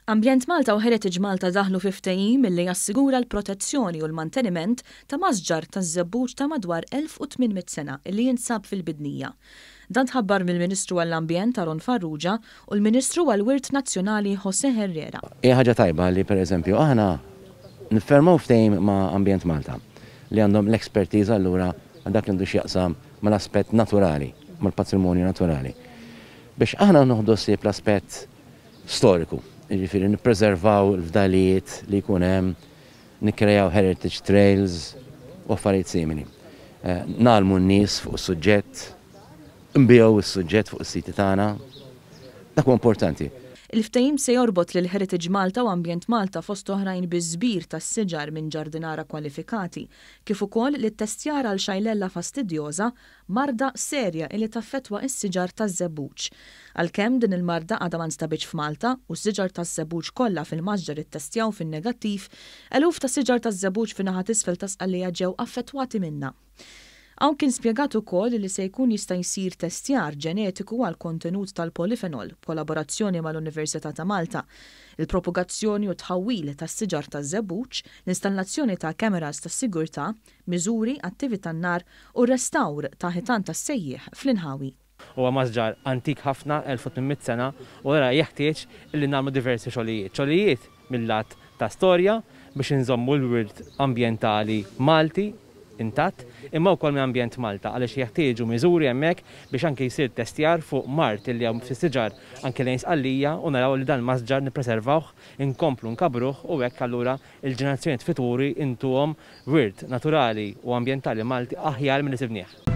Ambjent Malta u Heritage Malta daħlu fi ftehim li jassigura l-protezzjoni u l-manteniment ta' masġar taż-żebbuġ ta' madwar 1800 sena li jinsab fil-Bidnija. Dan tħabbar mill-Ministru għall-Ambjent Aaron Farrugia u l-Ministru għall-Wirt Nazzjonali José Herrera. Hija ħaġa tajba li, pereżempju, aħna niffirmaw ftehim ma' Ambjent Malta li għandhom l-expertise allura għal dak li għandu x'jaqsam mal-aspett naturali, mal-patrimonju naturali. Biex aħna noħdu ħsieb l-aspett storiku, jiġifieri nippreservaw il-fdalijiet li jkun hemm, nikkrejaw heritage trails u affarijiet simili. Ngħallmu n-nies fuq is-suġġett, nbigħu s-suġġett fuq is-siti tagħna. Dak huwa importanti. Il-ftehim se jorbot lil Heritage Malta u Ambjent Malta fost oħrajn biż-żbir tas-siġar minn ġardinara kwalifikati, kif ukoll l-ittestjar għal Xylella fastidiosa, marda serja illi taffettwa s-siġar taż-żebbuġ. Għalkemm din il-marda għadha ma nstabitx f'Malta u s-siġar taż-żebbuġ kollha fil-masġar ittestjaw fin-negattiv, eluf ta' siġar taż-żebbuġ fin-naħa t'isfel ta' Sqallija ġew affettwati minnha. Hawn kien spjegat ukoll li se jkun jista' jsir testjar ġenetiku għall-kontenut tal-polifenol b'kollaborazzjoni mal-Università ta' Malta, il-propagazzjoni u t-tħawwil tas-siġar taż-żebbuġ, l-installazzjoni ta' cameras tas-sigurtà, miżuri għat-tivi tan-nar u r-restawr ta' ħitan tas-sejjieħ fl-inħawi. Huwa masġar antik ħafna, 1800 sena, u allura jeħtieġ illi nagħmlu diversi xogħlijiet. Xogħlijiet mil-lat ta' storja biex inżommu l-wirt ambjentali Malti intatt, imma wkoll minn Ambjent Malta għaliex jeħtieġu miżuri hemmhekk biex anke jsir testjar fuq mard illi hawn fis-siġar anke lejn Sqallija u naraw li dan il-masġar nippreservawh, inkomplu nkabbruh u hekk allura l-ġenerazzjonijiet futuri intuhom wirt naturali u ambjentali Malti aħjar milli sibnieh.